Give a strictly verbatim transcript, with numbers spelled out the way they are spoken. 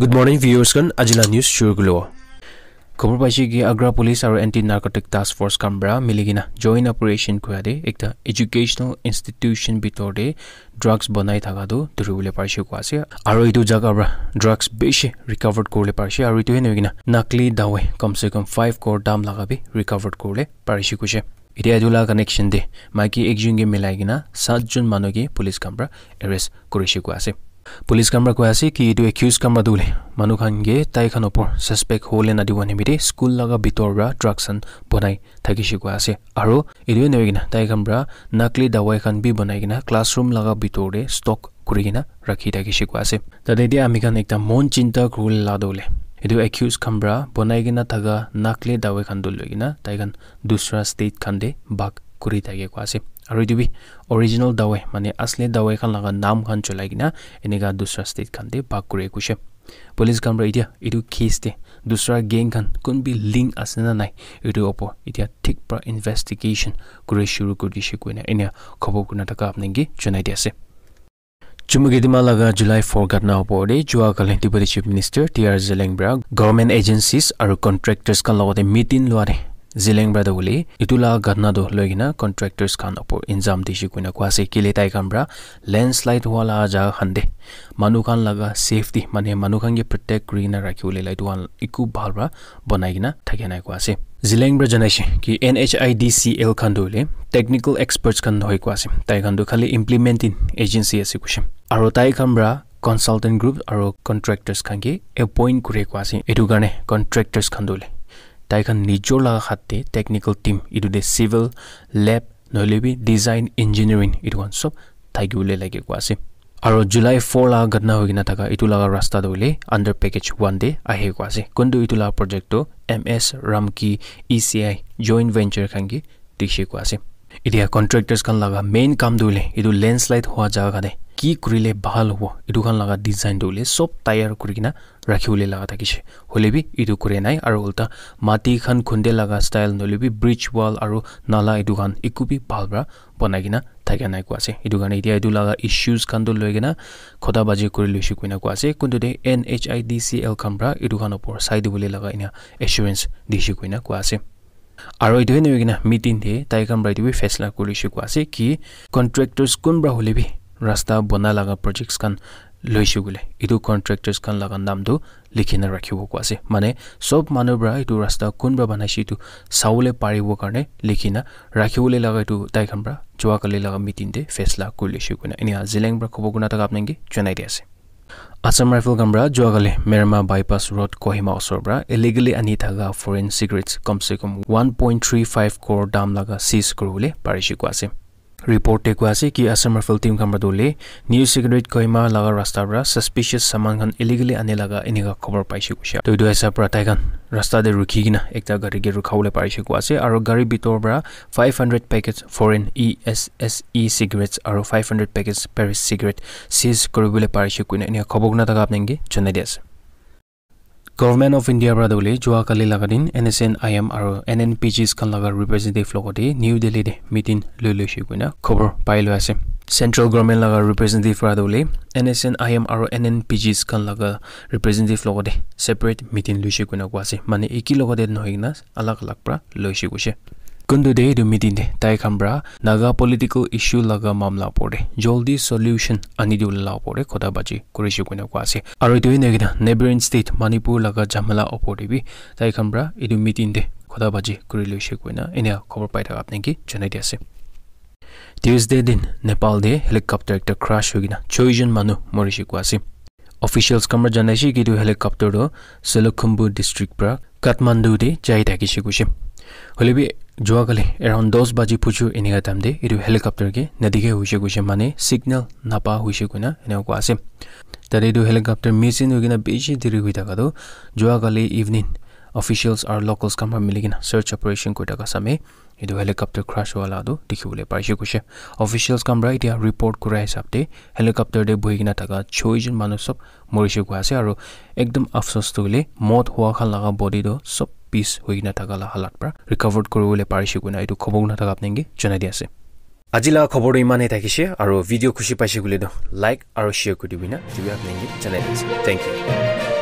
Good morning, viewers khan. Ajila news shuru kulo. Khobor paise ki Agra Police aru Anti Narcotic Task Force khan para mili kena joint operation kura de ekta educational institution bitor de drugs banai thaka tu dhuribole parise kua ase. Aru etu jaga para drugs bishi recovered kuribole parise. Aru etu he nohoi kena nakli dawai kam se kam five crore dam laga bi recovered kuribole parise kuise. Etia etu la connection de maiki ekjon ke milai kena satjon manu ke police khan para arrest kurise kua ase. Police khan para koi ase ki etu accused khan para tu hoile manu khan ke tai khan opor suspect hole na dibo nimite school laga bitor para drugs khan banai thakise kua ase. Aru etu nohoi kena tai khan para nakli dawai khan bi banai kena classroom laga bitor de stock kuri kena rakhi thakise kua ase. Tate dia ami khan ekta mon chinta kuribole la tu hoile etu accused khan para banai kena thaka nakli dawai khan tu loi kena tai khan dusra state khan de bhag kuri thake kua ase. Aru etu bi original dawai mane asli dawai khan laga naam khan cholai kena enika dusra state khan de bhag kuri kuise. Police khan para etia etu case de dusra gang khan kun bi link ase na nai etu opor etia thik para investigation kuri shuru kuri dise koina enia khobor kurina thaka apni ke janai di ase. Chumukidima laga July four gatna opor de jua kali Deputy Chief Minister T R Zeliang para government agencies aru contractors khan logote meeting lua de Zeliang para tu hoile etu la gatna tu loi kena contractors khan opor injam dise koina kua ase kile tai khan para landslide hua la jaga khan de manu khan laga safety mane manu khan ke protect kuri kena rakhi bole la etu khan eku bhal para banai kena thaki nai kua ase. Zeliang para janaise ki N H I D C L khan tu hoile technical experts khan nohoi kua ase. Tai khan tu khali implementing agency ase kuise. Aru tai khan para consultant group aru contractors khan ke appoint kuri kua ase. Etu karne contractors khan tu hoile tai khan nijor laga hat te technical team etu de civil, lab, nohoile bi design engineering etu khan sob thaki bole lage kua ase. Aru July four laga gatna hoi kena thaka etu laga rasta tu hoile under package one de ahe kua ase. Kuntu etu laga project tu M S Ramki E C I joint venture khan ke dikhi kua ase. Etia contractors khan laga main kam tu hoile etu landslide hua jaga khan de ki kurile bhal hobo etu khan laga design tu hoile sob tayar kuri kena rakhi bole laga thakise. Hoile bi etu kure nai aru ulta mati khan khunde laga style nohoile bi bridge wall aru nala etu khan eku bi bhal para banai kena thaka nai kua ase. Etu karne etia etu laga issues khan tu loi kena khota baji kuri loise koina kua ase. Kuntu de N H I D C L khan para etu khan opor sai dibole laga ena assurance dise koina kua ase. Aru etu he nohoi kena meeting de tai khan para etu bi faisla kuri loise kua ase ki contractors kunba hoile bi rasta bana laga projects khan loise koile etu contractors khan laga naam tu likhi na rakhibo kua ase. Mane sob manu para etu rasta kun para banaise etu sabole paribo karne likhi na rakhi bole laga etu tai khan para jua kali laga meeting de faisla kuri loise koina enia Zeliang para khobor kurina thaka apni ke janai di ase. Assam Rifle khan para jua kali Merma Bypass Road Kohima osor para illegally ani thaka foreign cigarettes kam se kam one point three five crore dam laga seize kuri bole parise kua ase. Report te kua ase ki Assam Rifle team khan para tu hoile New Secretariat Kohima laga rasta para suspicious saman khan illegally ani laga enika khobor paise kuise. To etu hisab para tai khan rasta de rukhi kena ekta gari ke rukha bole parise kua ase aru gari bitor para five hundred packets foreign E S S E cigarettes aru five hundred packets Paris cigarette seize kuri bole parise koina enika khobor kurina thaka apni ke janai di ase. Government of India para tu hoile jua kali laga din N S N I M aru N N P Gs khan laga representative logote New Delhi de meeting loi loise koina khobor pai loi ase. Central government laga representative para tu hoile N S N I M aru N N P Gs khan laga representative logote separate meeting loise koina kua ase. Mane eki logote nohoi kena alag alag para loise kuise. Kuntu de etu meeting de tai khan para Naga political issue laga mamla opor de joldi solution ani dibole la opor de khota baji kurise koina kua ase. Aru etu he nohoi kena neighboring state Manipur laga jamela opor de bi tai khan para etu meeting de khota baji kuri loise koina enia khobor pai thaka apni ke janai di ase. Tuesday din Nepal de helicopter ekta crash hoi kena choi jon manu morise kua ase. Officials khan para janaise ki etu helicopter tu Solukhumbu district para Kathmandu te jai thakise kuise. Hoile bi jua kali around dos baji phuchu enika time te etu helicopter ke nadikha hoise kuise mane signal napa hoise koina enika kua ase. Tate etu helicopter missing hoi kena bishi deri hoi thaka tu jua kali evening officials aru locals khan para mili kena search operation kuri thaka same etu helicopter crash hua la tu dikhi bole parise kuise. Officials khan para etia report kura hisab te helicopter te buhi kena thaka choi jon manu sob morise kua ase aru ekdum afsos tu hoile mot hua khan laga body tu sob piece hoi kena thaka la halat para recovered kuri bole parise koina etu khobor kurina thaka apni ke janai di ase. Aji la khobor tu iman he thakise aru video khushi paise koile tu like aru share kuri dibi na etu bi apni ke janai di ase. Thank you.